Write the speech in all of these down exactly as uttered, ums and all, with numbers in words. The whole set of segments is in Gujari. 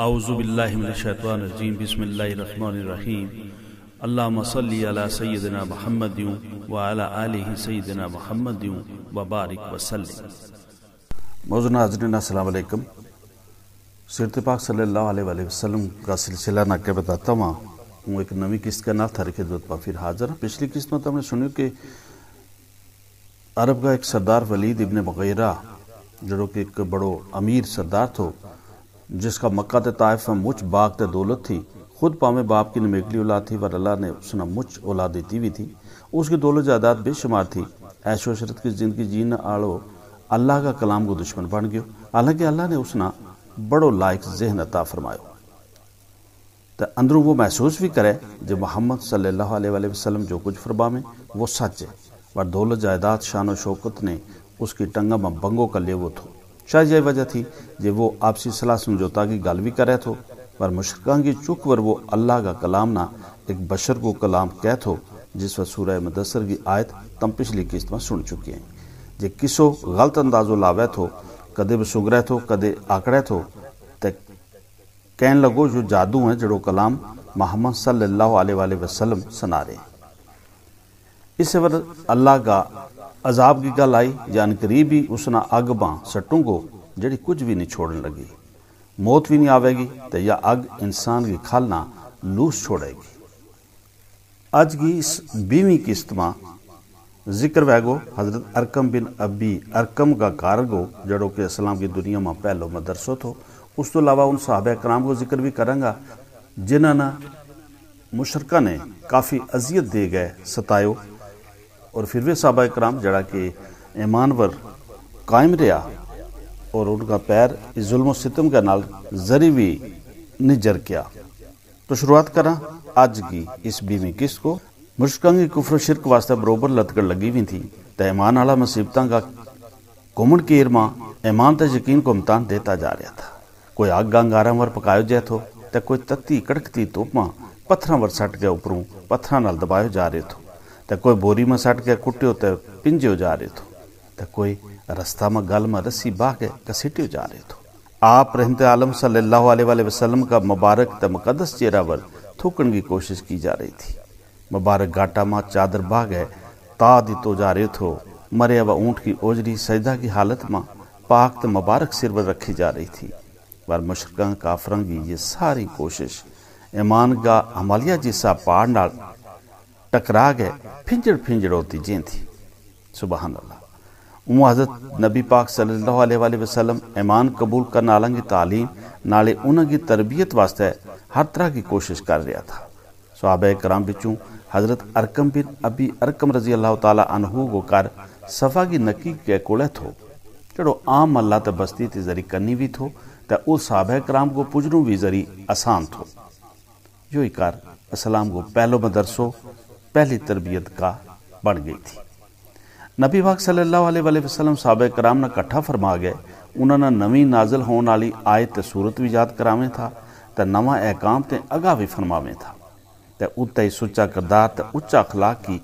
اعوذ باللہ من الشیطان الرجیم، بسم اللہ الرحمن الرحیم۔ اللہم صلی علی سیدنا محمد وعلی آلہ سیدنا محمد وبارک وسلم۔ موزن حاضرین، السلام علیکم۔ سیرت پاک صلی اللہ علیہ وآلہ وسلم کا سلسلہ نہ کے بتاتا ہوا ہوں، ایک نوی قسط کے نال تھاری خدمت پا پھر حاضر ہاں۔ پچھلی قسط ما تو ہم نے سنیو کہ عرب کا ایک سردار ولید ابن مغیرہ، جڑو کہ ایک بڑو امیر سردار تھو، جس کا مکہ تے طائف میں مچ باغ تے دولت تھی، خود پاویں باپ کی نمیکلی اولاد تھی، پر اللہ نے اس نا مچ اولاد دیتی وی تھی۔ اس کی دولت جائیداد بے شمار تھی۔ عیش و عشرت کی زندگی جین آلو اللہ کا کلام کو دشمن بن گیو، حالانکہ اللہ نے اس نا بڑو لائق ذہن عطا فرمایو۔ تے اندروں وہ محسوس وی کرے جے محمد صلی اللہ علیہ وآلہ وسلم جو کچھ فرماویں، وہ سچ ہے۔ پر دولت جائیداد، شان و شوکت نے اس کی ٹنگا ما بنگو کر لیو تھو۔ شاید یہی وجہ تھی جے وہ آپسی صلاح سمجھوتا کی گل وی کرے تھو۔ پر مشرکاں کی چک ور وہ اللہ کا کلام نا ایک بشر کو کلام کہہ تھو، جس وقت سورہ مدثر کی آیت تم پچھلی قسط ما سن چکے ہیں۔ جے کسو غلط اندازو لاوے تھو، کدے بسنگرے تھو، کدے آکڑے تھو، تے کہن لگو، یوہ جادو ہیں جڑو کلام محمد صلی اللہ علیہ وسلم سنا رہے ہیں۔ اس وقت اللہ کا عذاب کی گل آئی، جان قریب ہی اس نا اگ باں سٹوں گو، جڑی کچھ وی نہیں چھوڑن لگی۔ موت وی نہیں آوے گی، تے یا اگ انسان کی کھل نا لوس چھوڑے گی۔ اج کی اس بیویں قسط ما ذکر وھے گو حضرت ارقم بن ابی ارقم کا گھر گو، جڑو کہ اسلام کی دنیا ما پہلو مدرسو تھو۔ اس تو علاوہ ان صحابہ کرام کو ذکر وی کراں گا، جنہاں نا مشرکاں نے کافی اذیت دے گئے، ستایو۔ اور پھر وی صحابہ کرام جڑا کہ ایمان ور قائم رہیا، اور ان کا پیر اس ظلم و ستم کے نال ذری وی نہیں جرکیا۔ تو شروعات کراں اج کی اس بیویں قسط کو۔ مشرکاں کی کفر و شرک واسطے بروبر لتکڑ لگی وی تھی، تے ایمان آلا مصیبتاں کا گھمن کیر ما ایمان تے یقین کو امتحان دیتا جا رہیا تھا۔ کوئی اگ انگاراں ور پکایو جائے تھو، تے کوئی تتی کڑکتی دھوپ ما پتھراں ور سٹ کے اپروں پتھراں نال دبایو جا رہے تھو، تے کوئی بوری ما سٹ کے کٹیو تے پنجیو جا رہے تھو، تے کوئی رستہ ما گل ما رسی باہ کے کسیٹیو جا رہے تھو۔ آپ رحمت عالم صلی اللہ علیہ وسلم کا مبارک تے مقدس چہرہ ور تھوکن کی کوشش کی جا رہی تھی۔ مبارک گاٹا ما چادر باہ کے تا دتو جا رہے تھو۔ مریا و اونٹ کی اوجری سجدہ کی حالت ما پاک تے مبارک سر ور رکھی جا رہی تھی۔ پر مشرکاں کافراں کی یہ ساری کوشش ایمان کا ہمالیہ جیسا پہاڑ نال ٹکرا کے پھنجڑ پھنجڑ ہوتی جین تھی۔ سبحان اللہ۔ اوں حضرت نبی پاک صلی اللہ علیہ وسلم ایمان قبول کرنا آلاں کی تعلیم نالے انہاں کی تربیت واسطے ہر طرح کی کوشش کر رہیا تھا۔ صحابہ کرام بچوں حضرت ارقم بن ابی ارقم رضی اللہ تعالی عنہ کو گھر صفا کی نکی کے کولے تھو، جڑو عام اللہ تے بستی تے ذری کنی وی تھو، تے اس صحابہ کرام کو پجنو وی ذری آسان تھو۔ یوہی کر اسلام کو پہلو مدرسو، پہلی تربیت کا بن گئی تھی۔ نبی پاک صلی اللہ علیہ وسلم صحابہ کرام نا کٹھا فرما گئے۔ انہاں نا نوی نازل ہون آلی آیت تے سورت وی یاد کراویں تھا، تے نواں احکام تے اگاہ وی فرماویں تھا، تے اتے ہی سچا کردار تے اچا اخلاق کی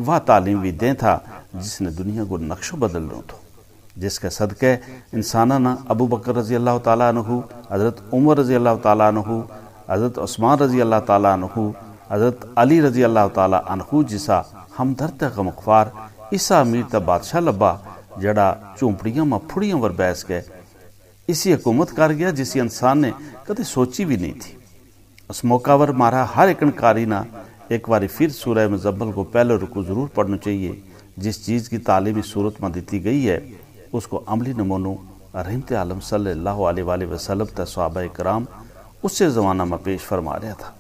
واہ تعلیم وی دیں تھا، جس نے دنیا کو نقشو بدل رہوں تھو۔ جس کے صدقے انساناں نا ابو بکر رضی اللہ تعالی عنہ، حضرت عمر رضی اللہ تعالی عنہ، حضرت عثمان رضی اللہ تعالی عنہ، حضرت علی رضی اللہ تعالی عنہ جسا ہمدرد تے غمخوار، اسا امیر تے بادشاہ لبھا، جڑا چونپڑیاں ما پھڑیاں ور بیس کے اسی حکومت کر گیا جسی انسان نے کدے سوچی وی نہیں تھی۔ اس موقع پر مارا ہر ایک انکاری نا ایک واری پھر سورہ مزمل کو پہلو رکو ضرور پڑھنو چاہیے۔ جس چیز کی تعلیمی صورت ما دتی گئی ہے، اس کو عملی نمونو رحمت عالم صلی اللہ علیہ وسلم تے صحابہ کرام اسے زمانہ ما پیش فرما رہیا تھا۔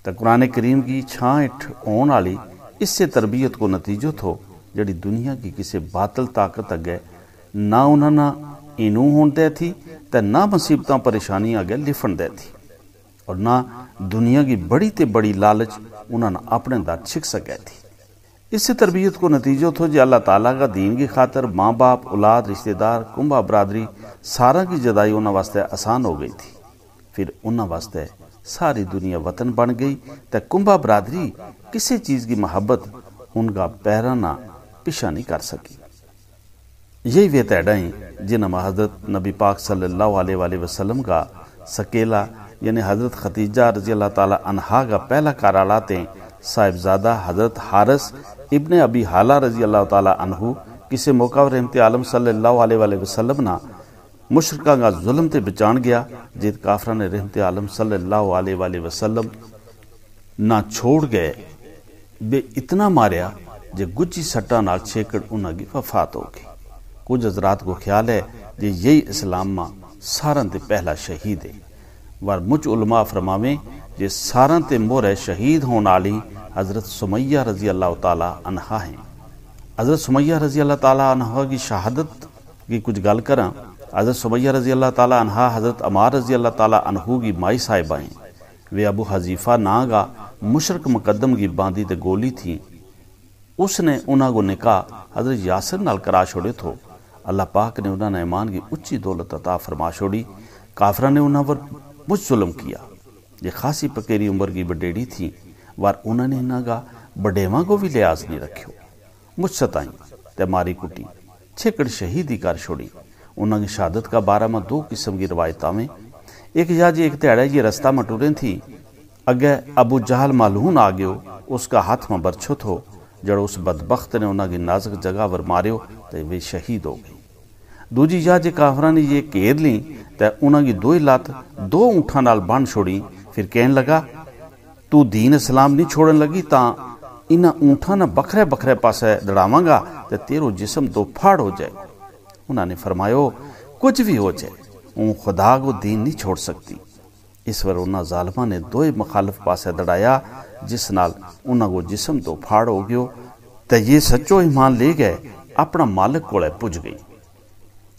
تے قرآن کریم کی چھاں ہیٹھ ہون آلی اسے تربیت کو نتیجو تھو، جڑی دنیا کی کسے باطل طاقت اگے نہ انہاں نا اینوں ہون دے تھی، تے نہ مصیبتاں پریشانیاں اگے لفن دے تھی، اور نہ دنیا کی بڑی تے بڑی لالچ انہاں نا اپنے دا چھک سکے تھی۔ اسے تربیت کو نتیجو تھو جے اللہ تعالی کا دین کی خاطر ماں باپ، اولاد، رشتے دار، کنبا برادری، ساراں کی جدائی انہاں واسطے آسان ہو گئی تھی۔ پھر انہاں واسطے ساری دنیا وطن بن گئی، تے کنبا برادری کسے چیز کی محبت ان کا پیراں نا پچھا نہیں کر سکی۔ یہی ویہ تیڈا ہیں جنہاں ما حضرت نبی پاک صلی اللہ علیہ وسلم کا سکیلا، یعنی حضرت خدیجہ رضی اللہ تعالی عنہا کا پہلا کار آلا تے صاحبزادہ حضرت حارث ابن ابی حالہ رضی اللہ تعالی عنہ کسے موقع رحمت عالم صلی اللہ علیہ وسلم نا مشرکاں کا ظلم تے بچان گیا، جت کافراں نے رحمت عالم صلی اللہ علیہ وسلم نا چھوڑ گئے، بے اتنا ماریا جے گجی سٹاں نال چھیکڑ انہاں کی وفات ہو گئی۔ کچھ حضرات کو خیال ہے جے یہی اسلام ما ساراں تے پہلا شہید ہے۔ ور مچ علماء فرماویں جے ساراں تے مور ہے شہید ہون آلی حضرت سمیہ رضی اللہ تعالی عنہا ہیں۔ حضرت سمیہ رضی اللہ تعالی عنہا کی شہادت کی کچھ گل کراں۔ حضرت سمیہ رضی اللہ تعالی عنہا حضرت عمار رضی اللہ تعالی عنہ کی مائی صاحبہ ہیں۔ ویہ ابو حذیفہ ناں کا مشرک مقدم کی باندی تے گولی تھی۔ اس نے انہاں کو نکاح حضرت یاسر نال کرا چھوڑے تھو۔ اللہ پاک نے انہاں نے ایمان کی اچی دولت عطا فرما چھوڑی۔ کافراں نے انہاں پر مچ ظلم کیا۔ یہ خاصی پکیری عمر کی بڈیڑی تھی، وار انہاں نے انہاں کا بڈیواں کو بھی لحاظ نہیں رکھیو۔ مچ ستائیں تے ماری کٹی، چھیکڑ شہید ہی کر چھوڑی۔ انہاں کی شہادت کا بارہ ما دو قسم کی روایت آویں۔ ایک یا جی ایک تہاڑے یہ رستہ ما ٹریں تھی، اگے ابو جہل مالون آ گیو، اس کا ہاتھ ما برچھو تھو، جڑو اس بدبخت نے انہاں کی نازک جگہ ور ماریو تے ویہ شہید ہو گئی۔ دوجی یا جے کافراں نے یہ گھیر لیں تے انہاں کی دوئی لات دو اونٹھاں نال بن چھوڑی، پھر کہن لگا، تو دین اسلام نہیں چھوڑن لگی تاں انہاں اونٹھاں نا بکھرے بکھرے پاسے دڑاواں گا تے تیرو جسم دو پھاڑ ہو جائے۔ انہاں نے فرمایو، کچھ بھی ہو جائے، اون خدا کو دین نہیں چھوڑ سکتی۔ اس ور انہاں ظالماں نے دوئے مخالف پاسے دڑایا، جس نال انہاں کو جسم دو پھاڑ ہو گیو۔ تے یہ سچو ایمان لے گئے، اپنا مالک کولے پج گئی۔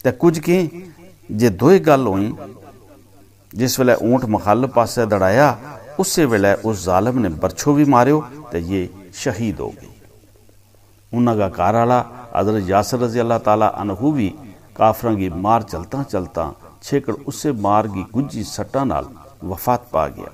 تے کچھ کہیں جے دوئے گل ہوئیں، جس ویلے اونٹ مخالف پاسے دڑایا، اسے ویلے اس ظالم نے برچھو بھی ماریو تے یہ شہید ہو گئی۔ انہاں کا گھر آلا حضرت یاسر رضی اللہ تعالی عنہ بھی کافراں کی مار چلتاں چلتاں چھیکڑ اسے مار کی گجی سٹاں نال وفات پا گیا۔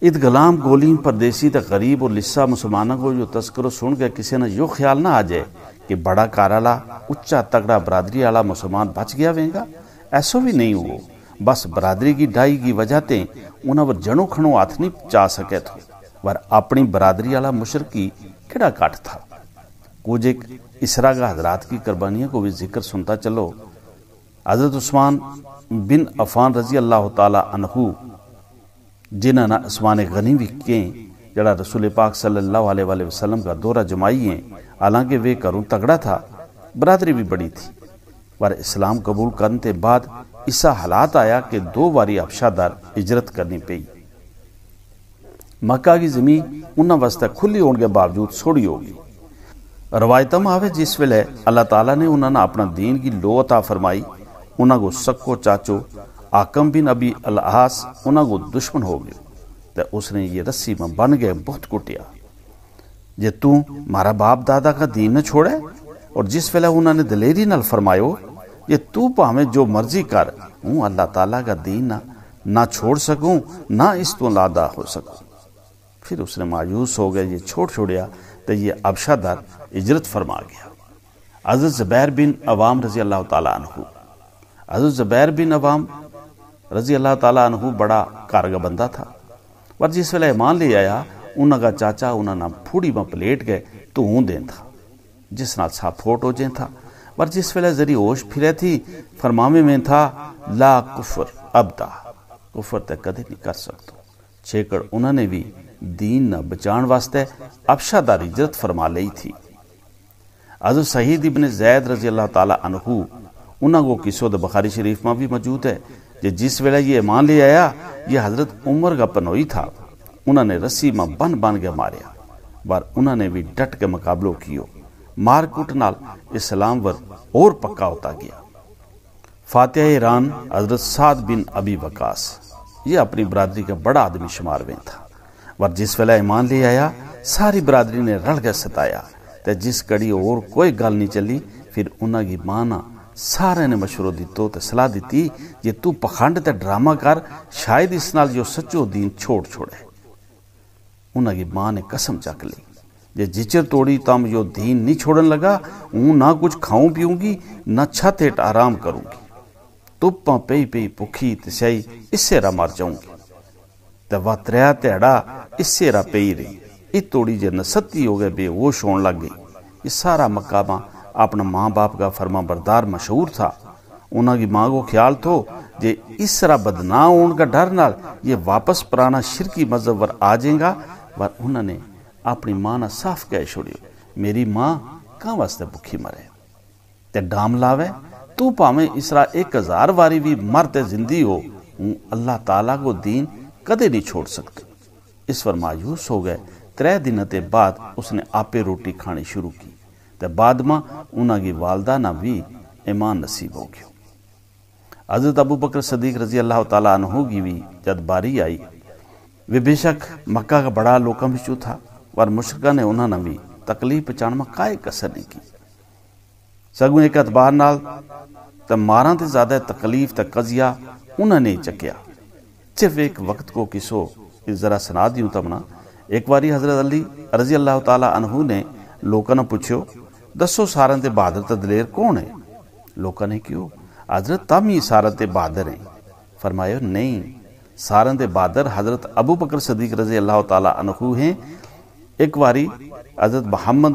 ات غلام گولیم پردیسی تے غریب اور لسا مسلماناں کو یوہ تذکرو سن کے کسے نا یوہ خیال نہ آ جائے کہ بڑا کار آلا، اچا تگڑا برادری آلا مسلمان بچ گیا وینگا۔ ایسو وی نہیں ہوو۔ بس برادری کی ڈائی کی وجہ تے انہاں پر جنو کھنو ہاتھ نہیں چا سکے تھو، پر اپنی برادری آلا مشرک کی کہڑا کٹ تھا؟ کچھ ایک اسرا کا حضرات کی قربانیاں کو بھی ذکر سنتا چلو۔ حضرت عثمان بن عفان رضی اللہ تعالی عنہ، جنہاں نا عثمان غنی وی کہیں، جڑا رسول پاک صلی اللہ علیہ وسلم کا دورہ جمائی ہیں، حالانکہ ویہ گھروں تگڑا تھا، برادری وی بڑی تھی، پر اسلام قبول کرن تے بعد ایسا حالات آیا کہ دو واری حبشہ در ہجرت کرنی پئی۔ مکہ کی زمین انہاں واسطے کھلی ہون کے باوجود سوڑی ہو گئی۔ روایتاں ما آوے جس ویلے اللہ تعالی نے انہاں نا اپنا دین کی لو عطا فرمائی، انہاں کو سکو چاچو حاکم بن ابی العاص انہاں کو دشمن ہو گیو، تے اس نے یہ رسی ما بن گئے بہت کٹیا، جے تو مارا باپ دادا کا دین نہ چھوڑے۔ اور جس ویلے انہاں نے دلیری نال فرمایو، جے تو پاویں جو مرضی کر، ہوں اللہ تعالی کا دین نہ نہ چھوڑ سکوں، نہ اس تو لادا ہو سکوں۔ پھر اس نے مایوس ہو گیا یہ چھوڑ چھوڑیا، تے یہ حبشہ در ہجرت فرما گیا۔ حضرت زبیر بن عوام رضی اللہ تعالی عنہ، حضرت زبیر بن عوام رضی اللہ تعالی عنہ بڑا کارگا بندہ تھا، پر جس ویلے ایمان لے آیا، انہاں کا چاچا انہاں نا پھوڑی ما پلیٹ گئے تو ہوں دین تھا، جس نال سا پھوٹ ہو جین تھا۔ پر جس ویلے ذری ہوش پھرے تھی، فرماوے میں تھا، لا کفر ابدا، کفر تے کدے نہیں کر سکتو۔ چھیکڑ انہاں نے وی دین نا بچان واسطے حبشہ در ہجرت فرما لئی تھی۔ حضرت سعید ابن زید رضی اللہ تعالی عنہ، انہاں کو قصو دا بخاری شریف ما وی موجود ہے، جے جس ویلے یہ ایمان لے آیا، یہ حضرت عمر کا پنوئی تھا، انہاں نے رسی ما بن بن کے ماریا، بار انہاں نے وی ڈٹ کے مقابلو کیو۔ مار کٹ نال اسلام ور اور پکا ہوتا گیا۔ فاتح ایران حضرت سعد بن ابی وقاص، یہ اپنی برادری کا بڑا آدمی شمار ویں تھا، پر جس ویلے ایمان لے آیا، ساری برادری نے رل کے ستایا، تے جس کڑی اور کوئی گل نہیں چلی، پھر انہاں کی ماں نا سارے نے مشورو دتو تے صلاح دتی، جے تو پخنڈ تے ڈرامہ کر، شاید اس نال جو سچو دین چھوڑ چھوڑے۔ انہاں کی ماں نے قسم چک لئی، جے جچر توڑی تم یوہ دین نہیں چھوڑن لگا، ہوں نہ کچھ کھاؤں پیوں گی، نہ چھت ہیٹ آرام کروں گی۔ توپاں پئی پئی پکھی تے سیائی اسے را مر جاؤں گی۔ تے واہ تریا تہاڑا اسے را پئی رہی۔ ات توڑی جے نستی ہو گئے بے ہوش ہون لگ گئی۔ یہ سارا مقامہ اپنا ماں باپ کا فرما بردار مشہور تھا۔ انہاں کی ماں کو خیال تھو جے اس را بدناہ ہون کا ڈر نال یہ واپس پرانا شرکی مذہب ور آ جائیں گا۔ پر انہاں نے اپنی ماں نا صاف کہہ چھوڑیو، میری ماں کہاں واسطے بکھی مرے؟ تے ڈام لاوے، تو پاویں اس را ایک ہزار واری بھی مر تے زندی ہو، ہوں اللہ تعالی کو دین کدے نہیں چھوڑ سکتی۔ اس پر مایوس ہو گئے۔ ترے دن تے بعد اس نے آپے روٹی کھانی شروع کی۔ تے بعد ما انہاں کی والدہ نا بھی ایمان نصیب ہو گیو۔ حضرت ابو بکر صدیق رضی اللہ تعالی عنہ کی بھی جد باری آئی، وہ بے شک مکہ کا بڑا لوکاں بچوں تھا، پر مشرکاں نے انہاں نا بھی تکلیف پہنچان ما کائے کسر نہیں کی۔ سگوں ایک اعتبار نال تے ماراں تے زیادہ تکلیف تے قضیہ انہاں نے چکیا۔ صرف ایک وقت کو قصو ذرا سنا دیوں تمنا۔ ایک واری حضرت علی رضی اللہ تعالی عنہ نے لوکاں نا پوچھو، دسو سارن تے بہادر تے دلیر کون ہے؟ لوکاں نے کہیو، حضرت تم ہی سارن تے بہادر ہیں۔ فرمایو، نہیں، سارن تے بہادر حضرت ابو بکر صدیق رضی اللہ تعالی عنہ ہیں۔ ایک واری حضرت محمد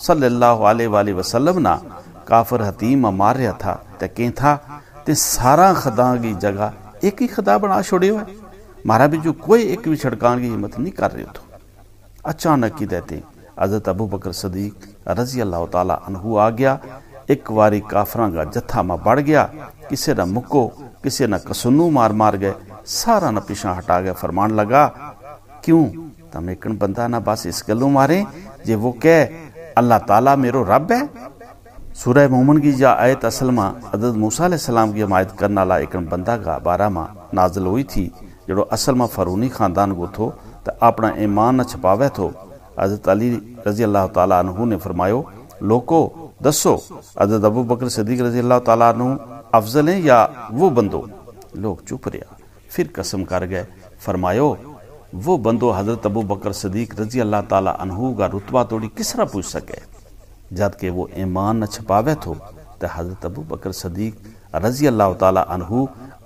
صلی اللہ علیہ وسلم نا کافر حتیم ما مار رہیا تھا، تے کہیں تھا تے سارا خداں کی جگہ ایک ہی خدا بنا چھوڑے ہوئے، مارا بھی جو کوئی ایک بھی چھڑکان کی ہمت نہیں کر رہے تھو۔ اچانک کی دیتے حضرت ابو بکر صدیق رضی اللہ تعالی عنہ آ گیا۔ ایک واری کافراں کا جتھا ما بڑھ گیا، کسے نا مکو، کسے نا کسنو مار مار گئے، سارا نا پیشاں ہٹا گئے، فرمان لگا، کیوں؟ تم ایکن بندہ نا بس اس گلوں مارے جے وہ کہہ، اللہ تعالی میرو رب ہے؟ سورہ مومن کی یا آیت اصل ما حضرت موسیٰ علیہ السلام کی حمایت کرنا لا ایکن بندہ کا بارہ ما نازل ہوئی تھی، جڑو اصل ما فرونی خاندان کو تھو، تے اپنا ایمان نہ چھپاوے تھو۔ حضرت علی رضی اللہ تعالی عنہ نے فرمایو، لوکو، دسو، حضرت ابو بکر صدیق رضی اللہ تعالی عنہ افضل ہیں یا وہ بندو؟ لوگ چپ رہیا۔ پھر قسم کر گئے، فرمایو، وہ بندو حضرت ابو بکر صدیق رضی اللہ تعالی عنہ کا رتبہ توڑی کس طرح پوچھ سکے؟ جد کہ وہ ایمان نہ چھپاوے تھو، تے حضرت ابو بکر صدیق رضی اللہ تعالی عنہ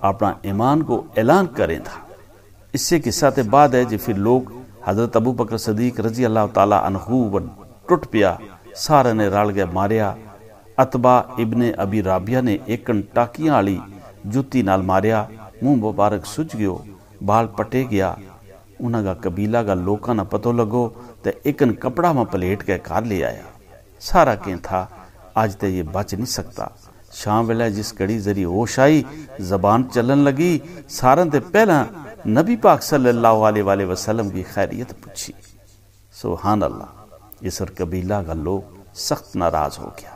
اپنا ایمان کو اعلان کریں تھا۔ اس سے قصہ تے بعد ہے جی پھر لوگ حضرت ابو بکر صدیق رضی اللہ تعالی عنہ و ٹٹ پیا، سارے نے رل گئے ماریا۔ عتبہ ابن ابی رابیہ نے ایکن ٹاکیاں آلی جتی نال ماریا، منہ مبارک سج گیو، بال پٹے گیا۔ انہاں کا قبیلہ کا لوکاں نا پتو لگو، تے ایکن کپڑا ما پلیٹ کے گھر لے آیا۔ سارا کہیں تھا، اج تے یہ بچ نہیں سکتا۔ شام ویلے جس گھڑی ذری ہوش آئی، زبان چلن لگی، سارن تے پہلاں نبی پاک صلی اللہ علیہ وسلم کی خیریت پوچھی۔ سبحان اللہ، اس قبیلہ کا لوگ سخت ناراض ہو گیا۔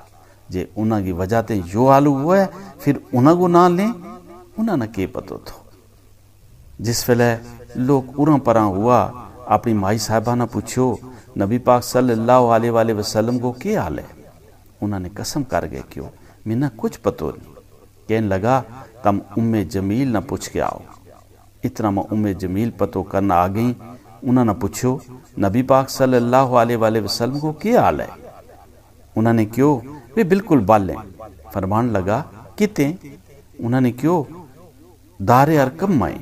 جے انہاں کی وجہ تے یوہ حال ہوا ہے، پھر انہاں کو ناں لیں؟ انہاں نا کے پتو تھو؟ جس ویلے لوگ اراں پراں ہوا، اپنی مائی صاحبہ نا پوچھیو، نبی پاک صلی اللہ علیہ وسلم کو کے حال ہے؟ انہاں نے قسم کر گئے کہیو، منا کچھ پتو نہیں۔ کہن لگا، تم ام جمیل نا پوچھ کے آؤ۔ اتنا ما ام جمیل پتو کرنا آ گئی۔ انہاں نا پوچھیو، نبی پاک صلی اللہ علیہ وسلم کو کے حال ہے؟ انہاں نے کہیو، ویہ بالکل بل ہیں۔ فرمان لگا، کتیں؟ انہاں نے کہیو، دار ارقم مائیں۔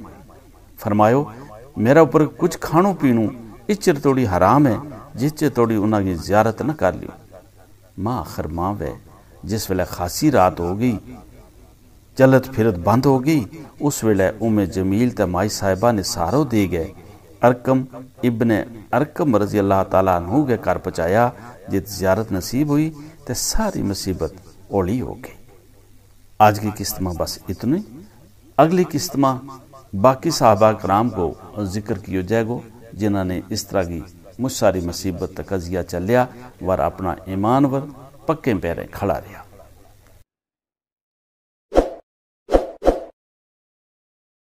فرمایو، میرا اپر کچھ کھانو پینو اس چر توڑی حرام ہے، جس چر توڑی انہاں کی زیارت نہ کر لیو۔ ما آخر ما وے، جس ویلے خاصی رات ہو گئی، چلت پھرت بند ہو گئی، اس ویلے ام جمیل تے مائی صاحبہ نے سہارو دے گئے۔ ارقم ابن ارقم رضی اللہ تعالی عنہ کے گھر پہنچایا، جت زیارت نصیب ہوئی، تے ساری مصیبت اولی ہو گئی۔ آج کی قسط ما بس اتنی۔ اگلی قسط ما باقی صحابہ کرام کو ذکر کیو جائے گو، جنہاں نے اس طرح کی مچ ساری مصیبت تک قضیہ چلیا، ور اپنا ایمان ور پکیں پیریں کھڑا رہیا۔